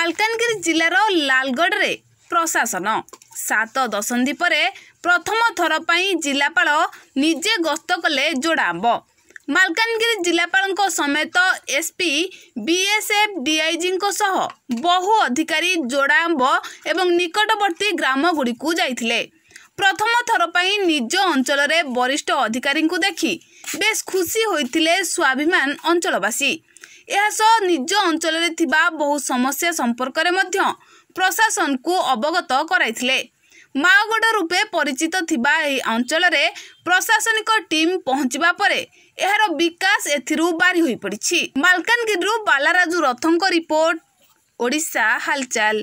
ମାଲକାନଗିରି ଜିଲ୍ଲାର ଲାଲଗଡ଼ରେ ପ୍ରଶାସନ। 7 ଦଶନ୍ଧି ପରେ ପ୍ରଥମ ଥର ପାଇଁ ଜିଲ୍ଲାପାଳ ନିଜେ ଗସ୍ତ କଲେ ଯୋଡ଼ାଆମ୍ବ। ମାଲକାନଗିରି ଜିଲ୍ଲାପାଳଙ୍କ ସମେତ ଏସ୍ପି, ବିଏସ୍ଏଫ୍, ଡିଆଇଜିଙ୍କ ସହ ବହୁ ଅଧିକାରୀ ଯୋଡ଼ାଆମ୍ବ ଏବଂ ନିକଟବର୍ତ୍ତୀ ଗ୍ରାମଗୁଡ଼ିକୁ ଯାଇଥିଲେ। ପ୍ରଥମ ଥର ପାଇଁ ନିଜ ଅଞ୍ଚଳରେ ବରିଷ୍ଠ ଅଧିକାରୀଙ୍କୁ ଦେଖି ବେଶ୍ ଖୁସି ହୋଇଥିଲେ ସ୍ୱାଭିମାନ ଅଞ୍ଚଳବାସୀ। ଏହାସହ ନିଜ ଅଞ୍ଚଳରେ ଥିବା ବହୁ ସମସ୍ୟା ସମ୍ପର୍କରେ ମଧ୍ୟ ପ୍ରଶାସନକୁ ଅବଗତ କରାଇଥିଲେ। ମାଓଗଡ଼ ରୂପେ ପରିଚିତ ଥିବା ଏହି ଅଞ୍ଚଳରେ ପ୍ରଶାସନିକ ଟିମ୍ ପହଞ୍ଚିବା ପରେ ଏହାର ବିକାଶ ଏଥିରୁ ବାରି ହୋଇପଡ଼ିଛି। ମାଲକାନଗିରିରୁ ବାଲାରାଜୁ ରଥଙ୍କ ରିପୋର୍ଟ, ଓଡ଼ିଶା ହାଲଚାଲ।